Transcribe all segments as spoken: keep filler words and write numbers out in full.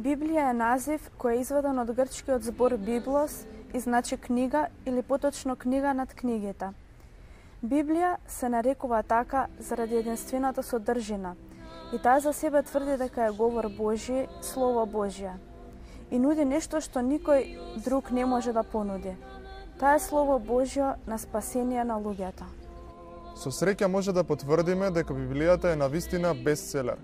Библија е назив кој е изваден од грчкиот збор библос и значи книга или поточно книга над книгите. Библија се нарекува така заради единствената содржина и таа за себе тврди дека е говор Божи, Слово Божје и нуди нешто што никој друг не може да понуди. Таа е Слово Божјо на спасение на луѓето. Со среќа може да потврдиме дека Библијата е навистина бестселер.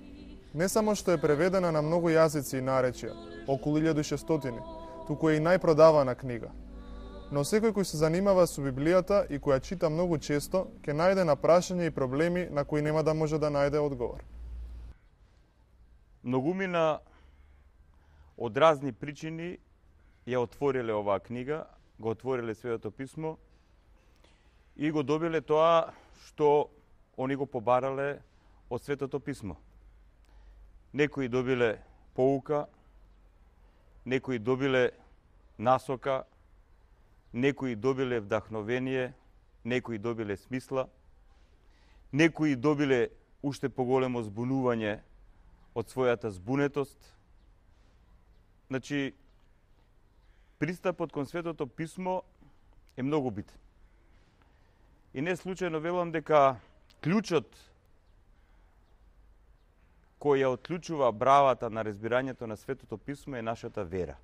Не само што е преведена на многу јазици и наречја, околу илјада и шестстотини, туку е и најпродавана книга. Но секој кој се занимава со Библијата и која чита многу често, ќе најде на прашања и проблеми на кои нема да може да најде одговор. Многумина од разни причини ја отвориле оваа книга, го отвориле Светото писмо и го добиле тоа што они го побарале од Светото писмо. Некои добиле поука, некои добиле насока, некои добиле вдахновение, некои добиле смисла, некои добиле уште поголемо збунување од својата збунетост. Значи, пристапот кон Светото писмо е многу битен. И не случајно велам дека клучот кој ја отклучува бравата на разбирањето на Светото писмо е нашата вера.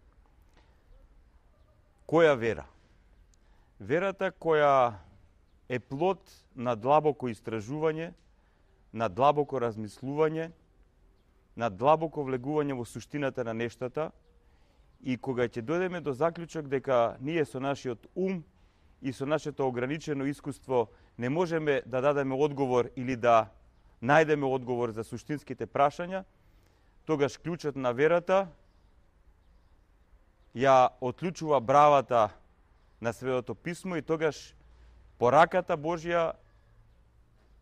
Која вера? Верата која е плод на длабоко истражување, на длабоко размислување, на длабоко влегување во суштината на нештата и кога ќе дојдеме до заклучок дека ние со нашиот ум и со нашето ограничено искуство не можеме да дадеме одговор или да најдеме одговор за суштинските прашања, тогаш клучот на верата ја отклучува бравата на Светото писмо и тогаш пораката Божја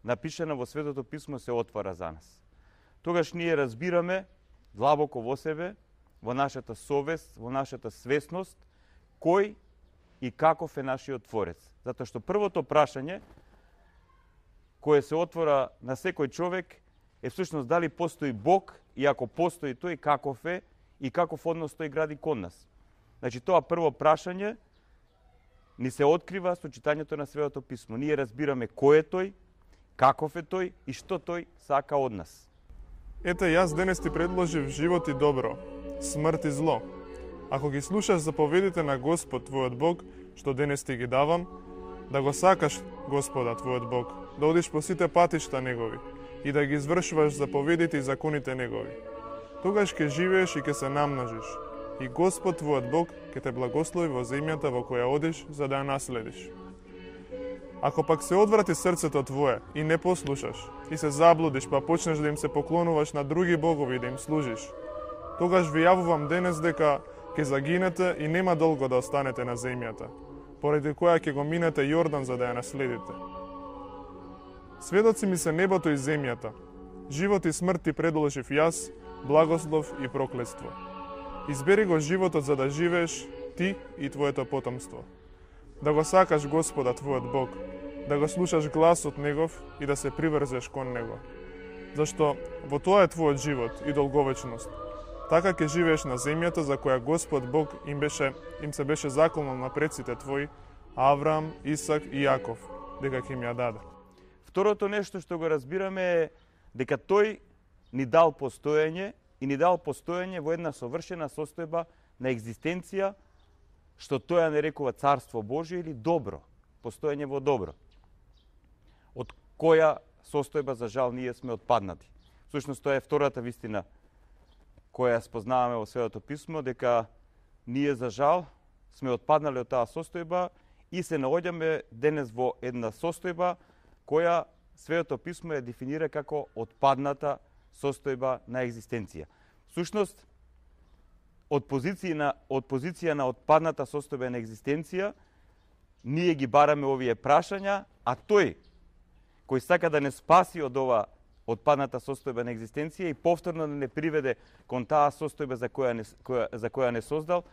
напишана во Светото писмо се отвара за нас. Тогаш ние разбираме длабоко во себе, во нашата совест, во нашата свесност, кој и каков е нашиот Творец. Затоа што првото прашање кое се отвора на секој човек е всушност дали постои Бог и ако постои тој каков е и каков однос тој гради кон нас. Значи тоа прво прашање ни се открива со читањето на Светото писмо. Ние разбираме кој е тој, каков е тој и што тој сака од нас. Ете, јас денес ти предложив живот и добро, смрт и зло. Ако ги слушаш заповедите на Господ твојот Бог, што денес ти ги давам, да го сакаш Господа твојот Бог, да одиш по сите патишта Негови и да ги извршуваш заповедите и законите Негови. Тогаш ќе живееш и ќе се намножиш. И Господ твојот Бог ќе те благослови во земјата во која одиш за да ја наследиш. Ако пак се одврати срцето твое и не послушаш, и се заблудиш, па почнеш да им се поклонуваш на други богови и да им служиш, тогаш ви јавувам денес дека ќе загинете и нема долго да останете на земјата, поради која ќе го минете Јордан за да ја наследите. Сведоци ми се небото и земјата, живот и смрт ти предложив јас, благослов и проклетство. Избери го животот за да живееш ти и твоето потомство. Да го сакаш Господа твојот Бог, да го слушаш гласот Негов и да се приврзеш кон Него. Зашто во тоа е твојот живот и долговечност. Така ќе живееш на земјата за која Господ Бог им беше им се беше заколнал на предците твои, Авраам, Исак и Јаков, дека ќе им ја даде. Второто нешто што го разбираме е дека тој ни дал постоење и ни дал постоење во една совршена состојба на екзистенција, што тој ја нарекува Царство Божие или добро, постоење во добро. Од која состојба, за жал, ние сме отпаднати. Всушност, тоа е втората вистина која спознаваме во Светото писмо, дека ние, за жал, сме отпаднале од таа состојба и се наоѓаме денес во една состојба која Светото писмо ја дефинира како отпадната состојба на екзистенција. Всушност, од позиција на, од позиција на отпадната состојба на екзистенција, ние ги бараме овие прашања, а тој, кој сака да не спаси од ова отпадната состојба на екзистенција и повторно да не приведе кон таа состојба за која не, која, за која не создал,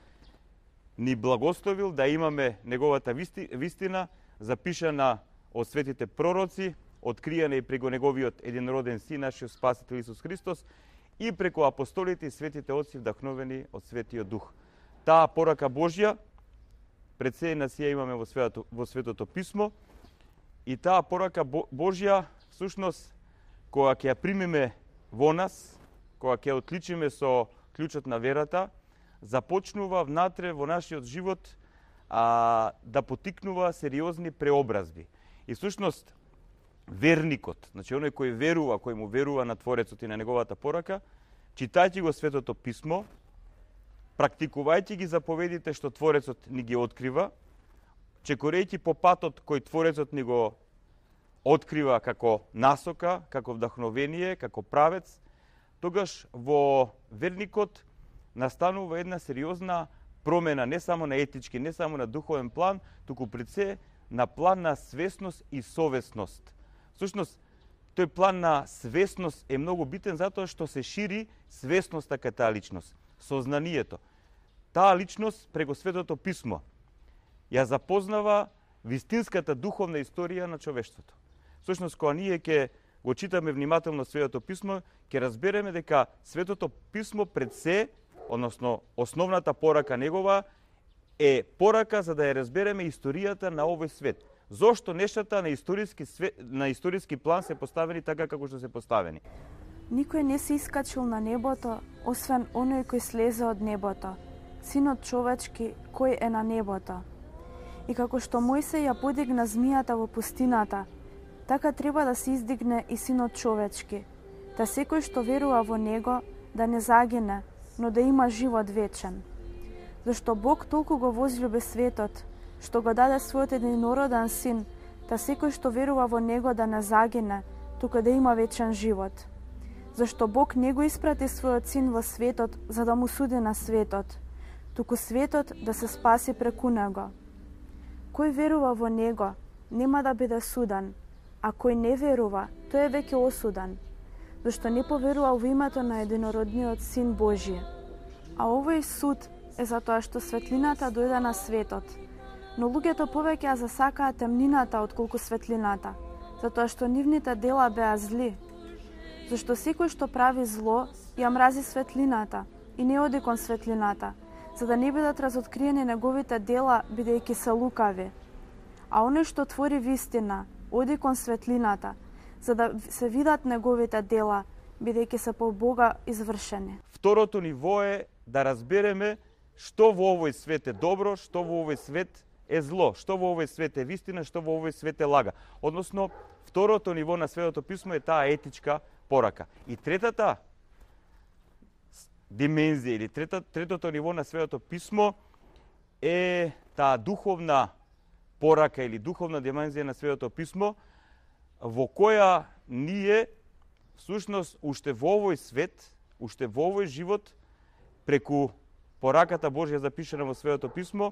ни благословил да имаме неговата висти, вистина, запишана од светите пророци, откриена и преко неговиот единороден син, нашиот Спасител Исус Христос, и преку апостолите и светите отци вдахновени од Светиот Дух. Таа порака Божја пред се нас ја имаме во светото, во Светото Писмо, и таа порака Божја всушност кога ќе ја примиме во нас, кога ќе ја отличиме со клучот на верата, започнува внатре во нашиот живот а, да потикнува сериозни преобразби. И всушност верникот, значи оној кој верува, кој му верува на Творецот и на неговата порака, читајќи го Светото Писмо, практикувајќи ги заповедите што Творецот ни ги открива, чекорејќи по патот кој Творецот ни го открива како насока, како вдахновение, како правец, тогаш во верникот настанува една сериозна промена не само на етички, не само на духовен план, туку пред се на план на свесност и совесност. Всушност, тој план на свесност е многу битен затоа што се шири свесноста кај таа личност, сознанието. Таа личност преку Светото Писмо ја запознава вистинската духовна историја на човештвото. Всушност, кога ние ќе го читаме внимателно Светото Писмо, ќе разбереме дека Светото Писмо пред се, односно основната порака негова, е порака за да ја разбереме историјата на овој свет. Зошто нештата на историски свет, на историски план се поставени така како што се поставени? Никој не се искачил на небото, освен оној кој слезе од небото, Синот човечки кој е на небото. И како што Мојсей ја подигна змијата во пустината, така треба да се издигне и Синот човечки, да секој што верува во него да не загине, но да има живот вечен. Зашто Бог толку го возлюби светот, што го даде својот единороден Син, да секој што верува во него да не загине, туку да има вечен живот. Зашто Бог не го испрати својот Син во светот за да му суди на светот, туку светот да се спаси преку него. Кој верува во него нема да биде суден, а кој не верува, тој е веќе осуден, зашто не поверува во името на единородниот Син Божи. А овој суд е затоа што светлината дојде на светот, но луѓето повеќе ја засакаа темнината отколку светлината, затоа што нивните дела беа зли. Зашто секој што прави зло ја мрази светлината и не оди кон светлината, за да не бидат разоткриени неговите дела, бидејќи се лукави. А оној што твори вистина, оди кон светлината, за да се видат неговите дела, бидејќи се по Бога извршени. Второто ниво е да разбереме што во овој свет е добро, што во овој свет е зло, што во овој свет е вистина, што во овој свет е лага. Односно, второто ниво на Светото Писмо е таа етичка порака. И третата димензија или трета, третото ниво на Светото Писмо е таа духовна порака или духовна димензија на Светото Писмо, во која ние всушност уште во овој свет, уште во овој живот, преку пораката Божја запишана во Светото Писмо,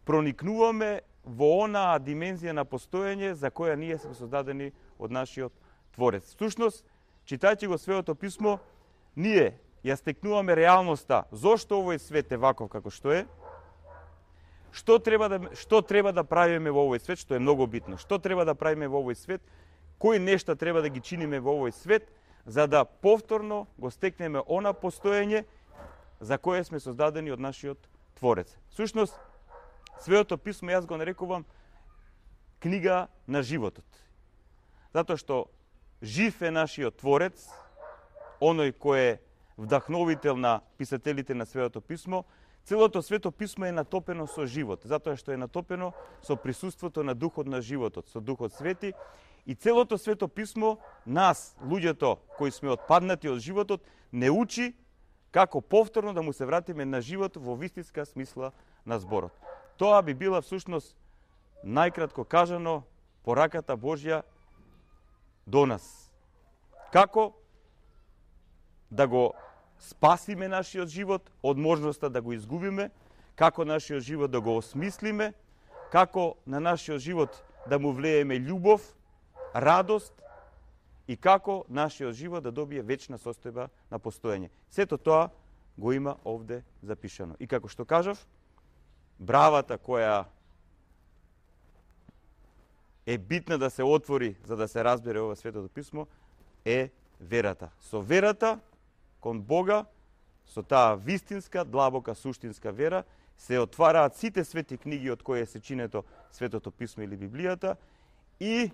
проникнуваме во онаа димензија на постоење за која ние сме создадени од нашиот Творец. Всушност, читајќи го Светото Писмо, ние ја стекнуваме реалноста зошто овој свет е ваков како што е, што треба да што треба да правиме во овој свет, што е многу битно. Што треба да правиме во овој свет, кои нешта треба да ги чиниме во овој свет, за да повторно го стекнеме она постоење за кое сме создадени од нашиот Творец. Всушност, Светото Писмо јас го нарекувам книга на животот. Затоа што жив е нашиот Творец, оној кој е вдахновител на писателите на Светото Писмо. Целото Свето Писмо е натопено со живот, затоа што е натопено со присуството на Духот на животот, со Духот Свети. И целото Свето Писмо нас, луѓето кои сме отпаднати од животот, не учи како повторно да му се вратиме на живот во вистинска смисла на зборот. Тоа би била всушност најкратко кажано пораката Божја до нас. Како да го спасиме нашиот живот од можноста да го изгубиме, како нашиот живот да го осмислиме, како на нашиот живот да му влееме љубов, радост и како нашиот живот да добие вечна состојба на постоење. Сето тоа го има овде запишано. И како што кажав, бравата која е битна да се отвори за да се разбере ова Светото Писмо е верата. Со верата кон Бога, со таа вистинска, длабока, суштинска вера, се отвараат сите свети книги од кои е сечинето Светото писмо или Библијата и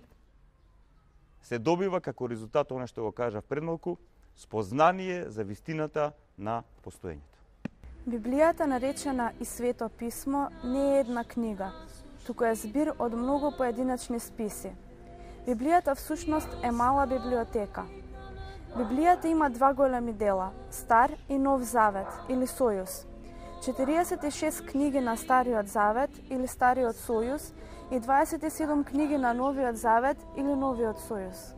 се добива како резултат она што го кажав пред малку, спознание за вистината на постоењето. Библијата, наречена и Свето писмо, не е една книга, туку е збир од многу поединечни списи. Библијата всушност е мала библиотека. Библијата има два големи дела – Стар и Нов Завет или Сојуз. четириесет и шест книги на Стариот Завет или Стариот Сојуз и дваесет и седум книги на Новиот Завет или Новиот Сојуз.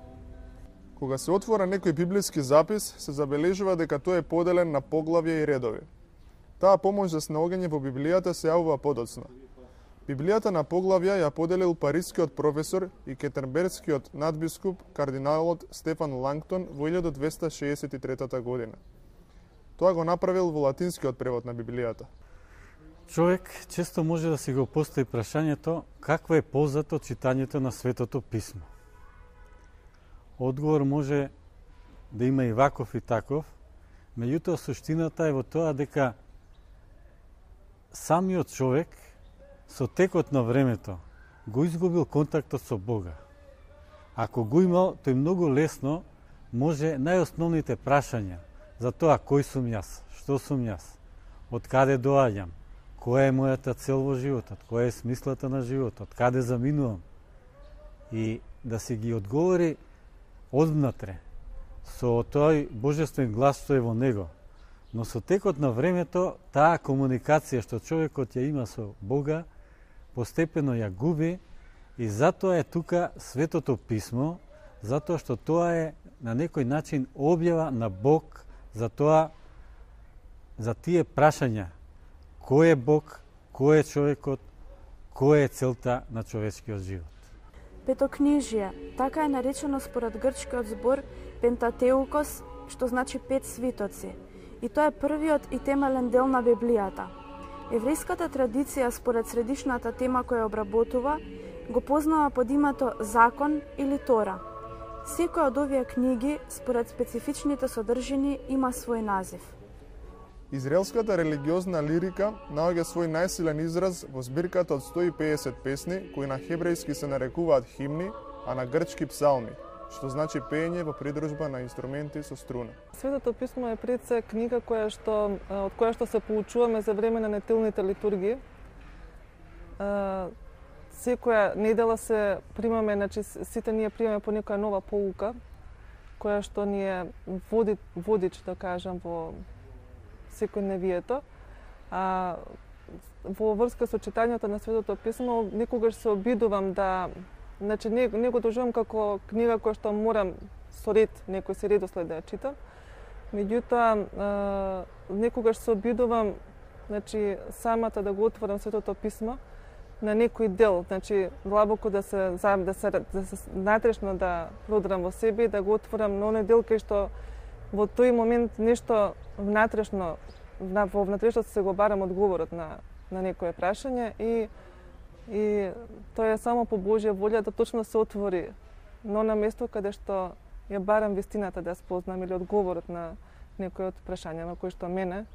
Кога се отвора некој библиски запис, се забележува дека тој е поделен на поглавја и редови. Таа помош за снаоѓање во Библијата се јавува подоцна. Библијата на поглавја ја поделил парискиот професор и кетерберскиот надбискуп кардиналот Стефан Лангтон во илјада двеста шеесет и трета година. Тоа го направил во латинскиот превод на Библијата. Човек често може да си го постави прашањето какво е ползата од читањето на Светото писмо. Одговор може да има и ваков и таков, меѓутоа суштината е во тоа дека самиот човек со текот на времето го изгубил контактот со Бога. Ако го имал, тој многу лесно може најосновните прашања за тоа кој сум јас, што сум јас, од каде доаѓам, која е мојата цел во животот, која е смислата на животот, каде заминувам, и да си ги одговори одвнатре со тој божествен глас што е во него. Но со текот на времето, таа комуникација што човекот ја има со Бога, постепено ја губи и затоа е тука Светото писмо, затоа што тоа е на некој начин објава на Бог за тоа, за тие прашања. Кој е Бог, кој е човекот, кој е целта на човечкиот живот. Петокнижие, така е наречено според грчкиот збор Пентатеукос, што значи пет свитоци. И тоа е првиот и темелен дел на Библијата. Еврејската традиција според средишната тема која обработува, го познава под името Закон или Тора. Секој од овие книги, според специфичните содржини, има свој назив. Израелската религиозна лирика наоѓа свој најсилен израз во збирката од сто и педесет песни, кои на хебрејски се нарекуваат химни, а на грчки псалми, што значи пеење во придружба на инструменти со струна. Светото писмо е пред се книга која што, од која што се поучуваме за време на нетилните литургии. Секоја недела се примаме, значи сите ние примаме по некоја нова поука, која што ни е води, водич, да кажам, во секојдневието. А во врска со читањето на Светото писмо, некогаш се обидувам да, значи не, не го доживам како книга која што морам со ред, некој се редослед да ја читам. Меѓутоа, некогаш се обидувам, значи самата да го отворам Светото писмо на некој дел, значи длабоко да се да се да се натрешно да продрам во себе и да го отворам на оној дел кај што во тој момент нешто внатрешно во внатрешно се го барам одговорот на на некое прашање и и тоа е само по Божја волја да точно се отвори но на место каде што ја барам вистината да спознам или одговорот на некој од прашања на кои што мене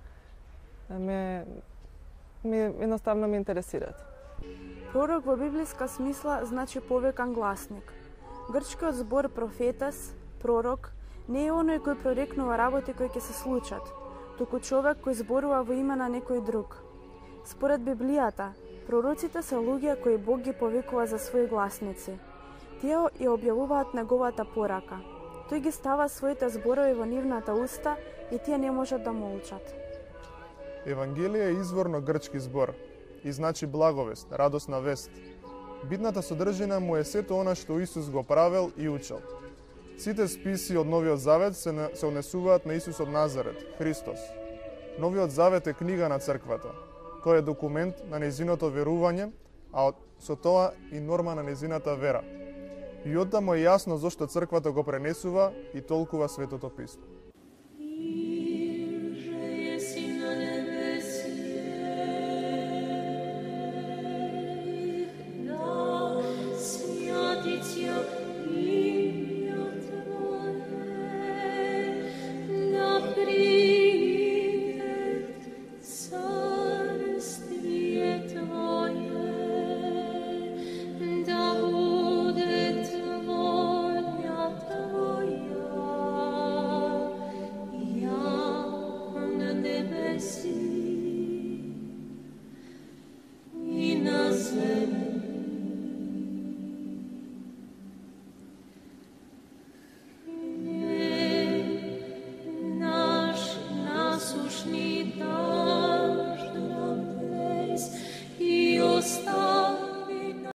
ме ме едноставно ме интересираат. Пророк во библиска смисла значи повекан гласник. Грчкиот збор профетес, пророк, не е оној кој прорекнува работи кои ќе се случат, туку човек кој зборува во име на некој друг. Според Библијата, пророците се луѓе кои Бог ги повикува за своји гласници. Тие ја објавуваат неговата порака. Тој ги става своите зборови во нивната уста и тие не можат да молчат. Евангелие е изворно грчки збор и значи благовест, радосна вест. Битната содржина му е сето она што Исус го правел и учел. Сите списи од Новиот Завет се, се однесуваат на Исус од Назарет, Христос. Новиот Завет е книга на црквата. Тој е документ на нејзиното верување, а со тоа и норма на нејзината вера. И оттаму е јасно зошто црквата го пренесува и толкува Светото писмо.